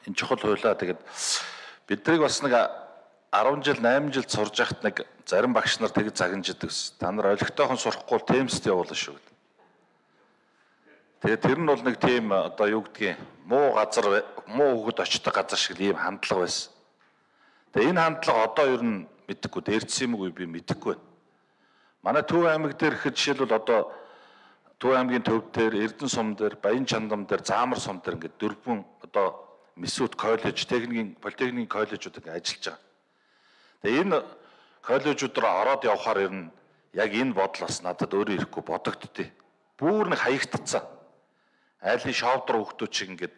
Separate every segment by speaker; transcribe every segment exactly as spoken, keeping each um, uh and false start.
Speaker 1: энэ чухал хуйлаа тэгээд биднийг бас нэг арван жил найман жил сурж байхад нэг зарим багш нар тэг загинждаг ус. Та нар олигтойхон сурахгүй темст явуулна шүү. Тэгээд тэр нь бол нэг тийм одоо юу гэдгийг муу газар муу хөгд очдог газар шиг ийм хандлага байсан. Тэгээд энэ хандлага одоо ер нь мэдэхгүй дээрцсэн юм уу би мэдэхгүй байна. Манай Төв аймаг дээр ихэд жишээлбэл одоо Төв аймгийн төв дээр, Эрдэнэ сум дээр, Баян чандам дээр, Заамар сум дээр ингээд дөрвөн одоо Месүд коллеж, техникийн политехникийн коллежууд ингээд ажиллаж байгаа. Тэгээ энэ коллежууд руу ороод явхаар ер нь яг энэ бодлоос надад өөрөө ирэхгүй бодогдтыг. Бүр нэг хаягдцсан. Айлын шовдор хөвгтүүд шиг ингээд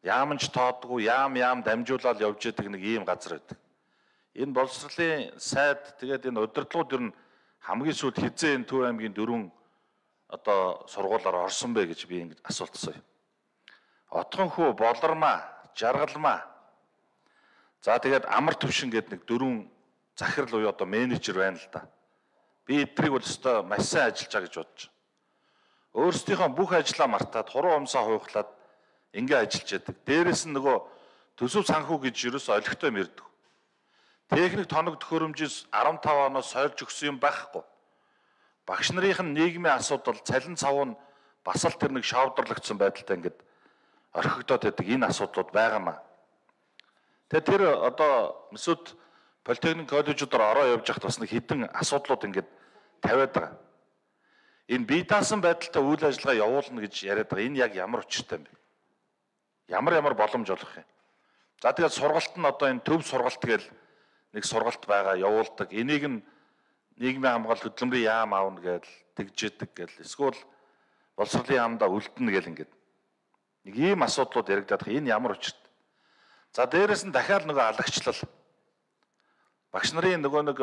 Speaker 1: яамч тоодгүй, яам яам дамжуулаад явж идэг нэг ийм газар байдаг. Энэ боловсролын сайд тэгээд энэ удирдлагууд ер нь хамгийн сүүлд хизээ энэ Төв аймгийн дөрвөн одоо сургуулиар орсон бэ гэж би ингэж асуултсан. Отгонхүү, Болормаа, Жаргалмаа. За тэгээд Амар төвшин гэдэг нэг дөрвөн захирал уу одоо менежер байна л да. Би эдрийг бол өстой маш сайн ажиллаж байгаа гэж бодож байна. Өөрсдийнхөө бүх ажлаа мартаад хуруу умсаа хуйхлаад ингээ ажиллаж яадаг. Дээрээс нь нөгөө төсөв санхүү гэж ерөөсөй олигтой мэрдэг. Техник тоног төхөөрөмжөөс арван тав оноос сольж өгсөн юм байхгүй. Багш нарын нийгмийн асуудал, цалин цав нь бас л тэр нэг шавдарлагдсан байдалтай ингээд орхигдоод байдаг энэ асуудлууд байгаамаа. Тэгээ тэр одоо Месүд политехник коллежуудаар ороо явж байхад бас нэг хідэн асуудлууд ингээд тавиад байгаа. Энэ бие даасан байдалтай үйл ажиллагаа явуулна гэж яриад байгаа. Энэ яг ямар учиртай юм бэ? Ямар ямар боломж олох юм? За тэгээд сургалт нь одоо энэ төв сургалт гээл нэг сургалт байгаа явуулдаг. Энийг нь нийгмийн хамгаалалт хөдөлмөрийн яам аавна гээл тэгжээдэг гээл эсвэл боловсролын яамдаа үлдэнэ гээл ингээд нэг ийм асуудлууд яригдаад байгаа. Энэ ямар учиртай? За дээрэс нь дахиад нөгөө алагчлал. Багш нарын нөгөө нэг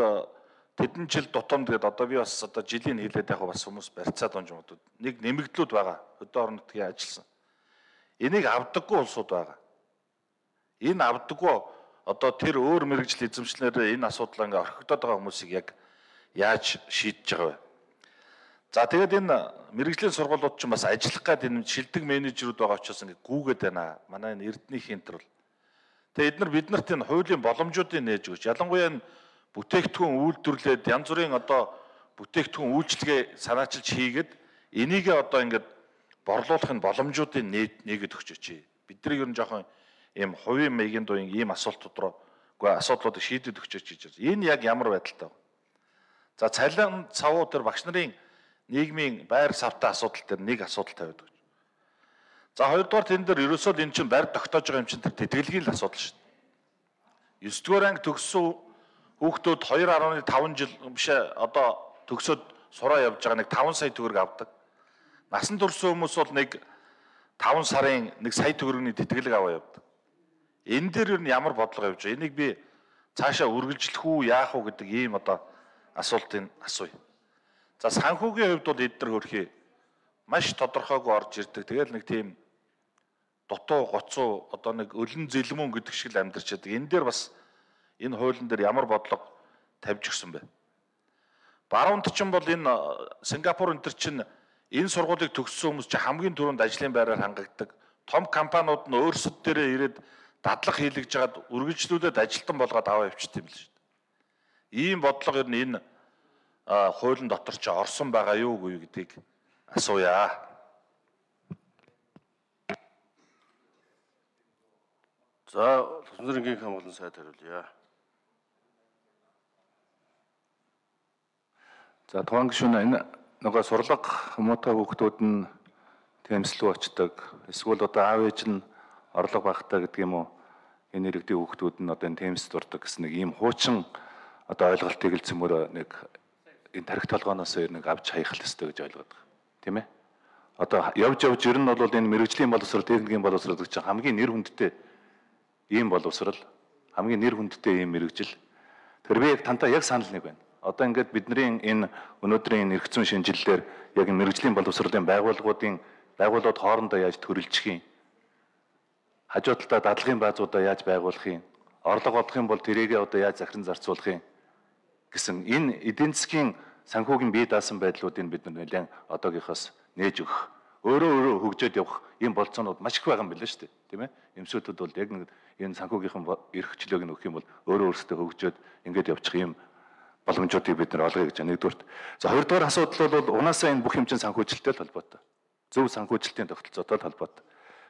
Speaker 1: тэдэн жил дутамд гэдэг одоо би бас одоо жилийн хэлээд яг бас хүмүүс барьцаад онж юмдууд нэг нэмэгдлүүд байгаа. Хөдөө орон нутгийн ажилласан. Энийг авдаггүй улсууд байгаа. Энэ авдаггүй одоо тэр өөр мэрэгжил эзэмшлэрээ энэ асуудлаа ингээ орхигдоод байгаа хүмүүсийг яг яаж шийдэж байгаа вэ? За тэгээд энэ мэрэгжлийн сургуулиуд ч бас ажиллах гээд энэ шилдэг менежерүүд байгаа учраас ингээ гүүгээд байна. Манай энэ Эрдэнийн хинтэр бол. Тэгээд эдгээр биднэрт энэ хуулийн боломжуудыг нээж өгч ялангуяа энэ бүтээгдэхүүн үйлдвэрлээд янз бүрийн одоо бүтээгдэхүүн үйлчлэгээ санаачилж хийгээд энийгээ одоо ингээд борлуулахын боломжуудыг нээгээд өгч өчье. Бидний ер нь жоохон ийм хувийн маягийн дуун ийм асуултууд руу үгүй асуудлуудыг шийдэд өгч өчье гэж. Энэ яг ямар байдалтай вэ? За цалин цавуу дээр багш нарын нийгмийн байр савтай асуудал дээр нэг асуудал тавиад өгч. За хоёрдугаар тэн дээр ерөөсөө энэ чинь барь тогтоож байгаа юм чинь тэр тэтгэлгийн л асуудал шүү дээ. девять дугаар анги төгссөн хүүхдүүд two point five жил биш одоо төгсөөд сураа явж байгаа нэг five сая төгрөг авдаг. Насан турсан хүмүүс бол нэг five сарын one сая төгрөгийн тэтгэлэг аваа явдаг. Энэ дээр юу ямар бодлого явж байгаа? Энийг би цаашаа үргэлжлэх үү, яах уу гэдэг ийм одоо асуултыг асууя. За санхүүгийн хувьд бол эдгээр хөрхий маш тодорхойгүй орж ирдэг. Тэгэл нэг тийм дутуу гоцоо одоо нэг өлөн зэлмүн гэдэг шиг л амьдарч байдаг. Энэ дээр бас энэ хуулийн дээр ямар бодлого тавьж өгсөн бэ? Баруунд чинь бол энэ Сингапур энэ төр чинь энэ сургуулийг төгссөн хүмүүс чинь хамгийн түрүүнд ажлын байраар хангагддаг. Том компаниуд нь өөрсөд дээрээ ирээд дадлага хийлгэж жагаад үргэлжлүүлээд ажилтан болгоод аваа явчихсан юм л шүү дээ. Ийм бодлого ер нь энэ хуулийн дотор чи орсон байгаа юу үгүй гэдгийг асууя.
Speaker 2: За, Төсвөрийн хамгаалалтын сайд хариулъя.
Speaker 3: За тухайн гишүүн энэ нөгөө сурлага муутай хүүхдүүд нь тэмцлүү очдог. Эсвэл одоо аав ээж нь орлого багтаа гэдэг юм уу? Энэ иргэдийн хүүхдүүд нь одоо энэ тэмцэлд дурдаг гэсэн нэг ийм хуучин одоо ойлголтыг л цөмөр нэг энэ тарих толгооноос нэг авч хаях л ёстой гэж ойлгоод байгаа. Тийм ээ? Одоо явж явж ер нь бол энэ мэрэгжлийн боловсрол, техникийн боловсрол гэж хамгийн нэр хүндтэй ийм боловсрол, хамгийн нэр хүндтэй ийм мэрэгжил. Тэр би яг тантай яг санал нэг байна. Одоо ингээд бидний энэ өнөөдрийн эрх зүйн шинжилэлээр яг мэрэгжлийн боловсролын байгууллагуудын байгууллагууд хоорондоо яаж төрөлжих юм? Хажуу талдаа дадлагын баазуудаа яаж байгуулах юм? Орлого олох юм бол тэрийгээ одоо яаж захиран зарцуулах юм гэсэн энэ эдийн засгийн санхүүгийн бие даасан байдлуудыг бид нэлээд одоогийнхоос нээж өгөх, өөрөө өөрөө хөгжөөд явах ийм болцоонууд маш их байгаа юм байна шүү дээ. Тийм ээ. Эмсүүдүүд бол яг нэг энэ санхүүгийнхэн эрхчлөөг нь өгөх юм бол өөрөө өөрсдөө хөгжөөд ингээд явчих юм боломжуудыг бид нар олгоё гэж байна. Нэгдүгürt. За хоёрдугаар асуудал бол унаасаа энэ бүх юм чинь санхүүжилттэй холбоотой. Зөв санхүүжилтийн тогтолцоотой холбоотой.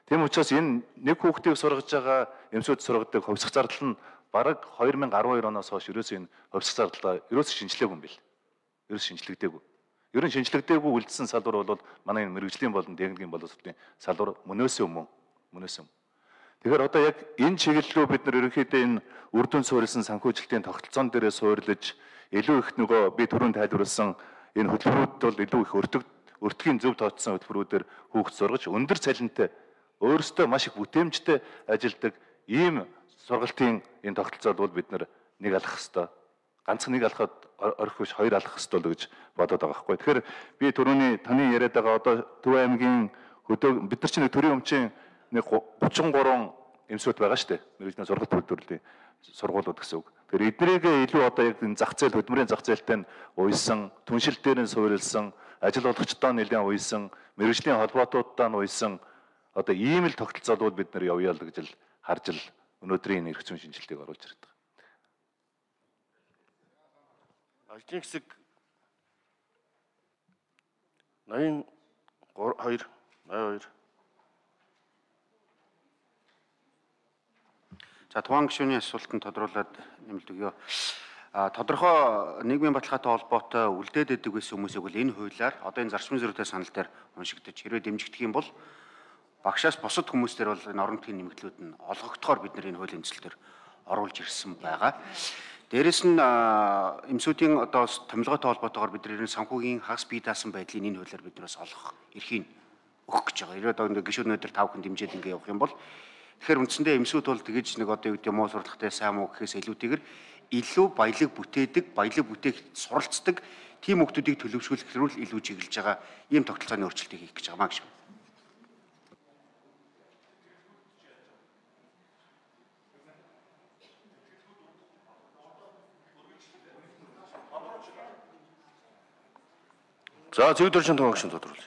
Speaker 3: Тийм учраас энэ нэг хүүхдийг сургаж байгаа эмсүүд сургадаг хувьсах зардал нь бараг две тысячи десять оноос хойш ерөөсөө энэ хувьсах зардлаа ерөөсөө шинжилгээгүй юм бэл. Ерөөсөө шинжлэгдээгүй. Ер нь шинжлэгдээгүй үлдсэн салбар бол манай энэ мэрэгжлийн болон техникийн боловсролын салбар мөнөөсөө мөн мөнөөсөө. Тэгэхээр одоо яг энэ чиглэлөө бид нар ерөнхийдөө энэ үр дүн суурилсан санхүүжилтийн тогтолцоон дээрээ суурилж илүү их нөгөө би түрүүнд тайлбарласан энэ хөтөлбөрүүд бол илүү их өртөг өртгийн зөв тооцсон хөтөлбөрүүдээр хүүхд сургаж өндөр цалинтай өөрөөсөө маш их бүтээмжтэй ажилладаг ийм сургалтын энэ тогтолцоод бол бид нар нэг алах хэвээр ганцхан нэг алхаад орхиж хоёр алах хэвээр л гэж бодоод байгаа байхгүй. Тэгэхээр би түрүүний таны яриад байгаа одоо Төв аймгийн хөдөө бид нар чинь төрийн өмчийн нэг гучин гурван эмсүүд байгаа шүү дээ. Мэргэжлийн сургалт үйлдвэрлэлийн сургуулиуд гэсэн үг. Тэгэхээр эднэрийг илүү одоо яг энэ зах зээл хөдөлмөрийн зах зээлтэй нь уйсан, түншил дээр нь суурилсан, ажил олгогчдоо нэлээд уйсан, мэргэжлийн холбоотуудаа нь уйсан одоо ийм л тогтолцоодууд бид нар явъя л гэж л харж л өнөөдрийн энэ эрх зүйн шинжилгээг оруулж ирээд байгаа.
Speaker 2: Ажлын хэсэг найман хоёр найман хоёр.
Speaker 4: За тухайн гишүүний асуултанд тодруулаад нэмэлт өгье. А тодорхой нийгмийн баталгаатай холбоотой үлдээд идэг байсан хүмүүсийг бол энэ хуулиар одоо энэ зарчмын зөрүүтэй санал дээр уншигдаж хэрвээ дэмжигдэх юм бол багшаас бусад хүмүүстэр бол энэ орон нутгийн нэмэгдлүүд нь олгогдохоор бид нар энэ хуулийн төсөл төр оруулж ирсэн байгаа. Дээрэс нь эмсүүдийн одоо томилгоотой холбоотойгоор бид нар санхүүгийн хагас бие даасан байдлыг энэ хуулиар биднээс олгох эрхийг өгөх гэж байгаа. Ирээд одоо гишүүнүүдээр тав хүн дэмжиж ингэ явах юм бол тэгэхээр үндсэндээ эмсүүд бол тэгэж нэг одоо юу гэдэг муу сурлагатай сайн муу гэхээс илүүтэйгээр илүү баялаг бүтээдэг, баялаг бүтээх суралцдаг тийм хүмүүсийг төлөвшүүлэх хэрүүл илүү чиглэж байгаа ийм тогтолцооны өөрчлөлтийг хийх гэж байгаа маа гэж.
Speaker 2: За зөв дөржин томогч нь тодруулъя.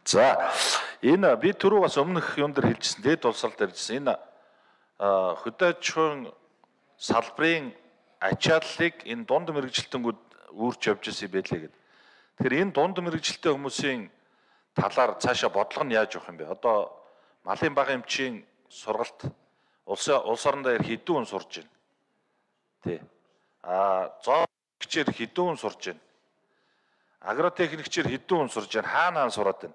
Speaker 1: За энэ би түрүү бас өмнөх юм дээр хэлжсэн, дээд улсрал дээр хэлжсэн. Энэ хөдөө аж ахуйн салбарын ачааллыг энэ дунд мэрэгжилтэнгүүд үүрч явж ирсэн байлээ гэдэг. Тэгэхээр энэ дунд мэрэгжилтэй хүмүүсийн талаар цаашаа бодлого нь яаж явах юм бэ? Одоо малын бага эмчийн сургалт улс улс орон дээр хэдэн хүн сурж байна? Тий. А зоогчээр хэдэн хүн сурж байна? Агротехникчээр хэдэн хүн сурж байна? Хаана хаана сураад байна?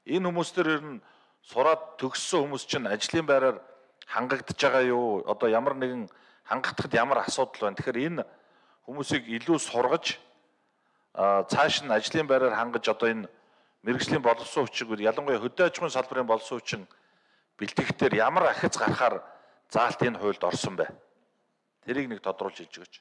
Speaker 1: Энэ хүмүүстэр ер нь сураад төгссөн хүмүүс чинь ажлын байраар хангагдж байгаа юу? Одоо ямар нэгэн хангагдахад ямар асуудал байна? Тэгэхээр энэ хүмүүсийг илүү сургаж цааш нь ажлын байраар хангаж одоо энэ мэргэжлийн боловсон хүчиг ялангуяа хөдөө аж ахуйн салбарын боловсон хүчин бэлтгэхтэр ямар ахиц гарахаар заалт энэ хуульд орсон бэ? Тэрийг нэг тодруулж хэлж өгөөч.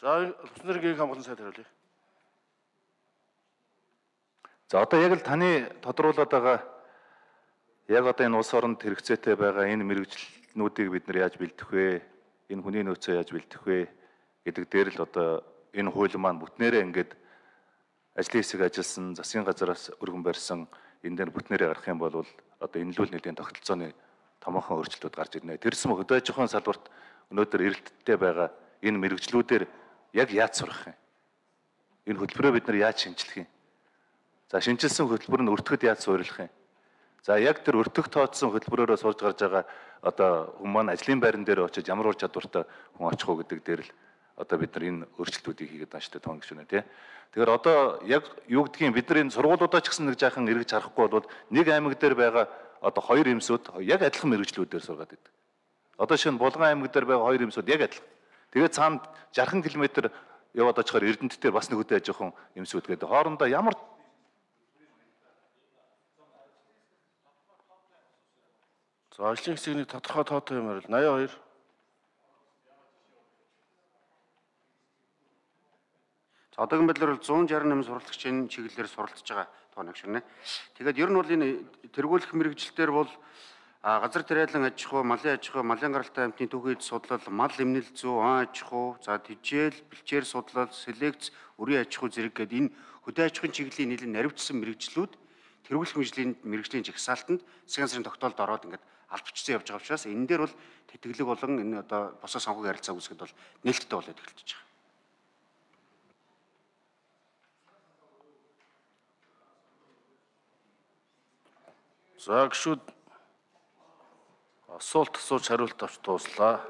Speaker 2: За Улсын иргэний хамгаалалтын сайд хариулъя.
Speaker 3: За одоо яг л таны тодруулаад байгаа яг одоо энэ улс оронд хэрэгцээтэй байгаа энэ мэрэгжлнүүдийг бид нар яаж бэлдэх вэ? Энэ хүний нөөцөө яаж бэлдэх вэ гэдэг дээр л одоо энэ хууль маань бүтнээрээ ингээд ажлын хэсэг ажилласан, засгийн газараас өргөн барьсан энэ дээр бүтнээрээ гарах юм бол одоо энэ л үл нэлийн тогтолцооны томоохон өөрчлөлтүүд гарч ирнэ. Тэрсэн хөдөө аж ахуйн салбарт өнөөдөр эрэлттэй байгаа энэ мэрэгжлүүдээр яг яаж сурах юм? Энэ хөтөлбөрөө бид нар яаж шинжлэх юм? За шинжилсэн хөтөлбөр нь өртөхөд яаж суурилах юм? За яг тэр өртөх тооцсон хөтөлбөрөөрөө сурж гарч байгаа одоо хүмүүс маань ажлын байран дээр очиж ямар ур чадвартай хүн очих уу гэдэг дээр л одоо бид нар энэ өөрчлөлтүүдийг хийгээд байна шүү дээ тоон гişүнэ тий. Тэгэхээр одоо яг юу гэдгийг бид нар энэ сургуулиудаа ч гэсэн нэг жаахан эргэж харахгүй бол нэг аймаг дээр байгаа одоо хоёр эмсүүд яг адилхан мэрэгчлүүдээр сургаад байдаг. Одоо шинэ Булган аймаг дээр байгаа хоёр эмсүүд яг адилхан. Тэгээд цаанд жархан километр яваад очихоор Эрдэнэт дээр бас нэг хөдөө аж ахуйн эмсүүд гэдэг. Хоорондоо ямар
Speaker 2: За ажлын хэсгийн тодорхой тоотой юм арил найман хоёр.
Speaker 4: Одоогийн байдлаар бол зуун шарь нэмэн сурвалжлагчийн чиглэлээр суралцж байгаа тооног ширнэ. Тэгээд ер нь бол энэ тэргүүлэх мэрэгжилтээр бол газар тариалан аж ахуй, малын аж ахуй, малын гаралтай амьтны түүхийд судлал, мал эмнэл зүй, он аж ахуй, за тэжээл, бэлчээр судлал, селекц, үрийн аж ахуй зэрэг гээд энэ хөдөө аж ахуйн чиглэлийн нэлээд наривчсан мэрэгжлүүд тэргүүлэх мэрэгжлийн мэрэгжлийн жагсаалтанд засгийн газрын тогтоолд ороод ингээд албачсан явж байгаа учраас энэ дээр бол тэтгэлэг болон энэ одоо босоо санхүүгийн харилцаа үүсгэхэд бол нээлттэй болоод эхэлж байгаа.
Speaker 2: За гişүүд асуулт асууж хариулт авч дууслаа.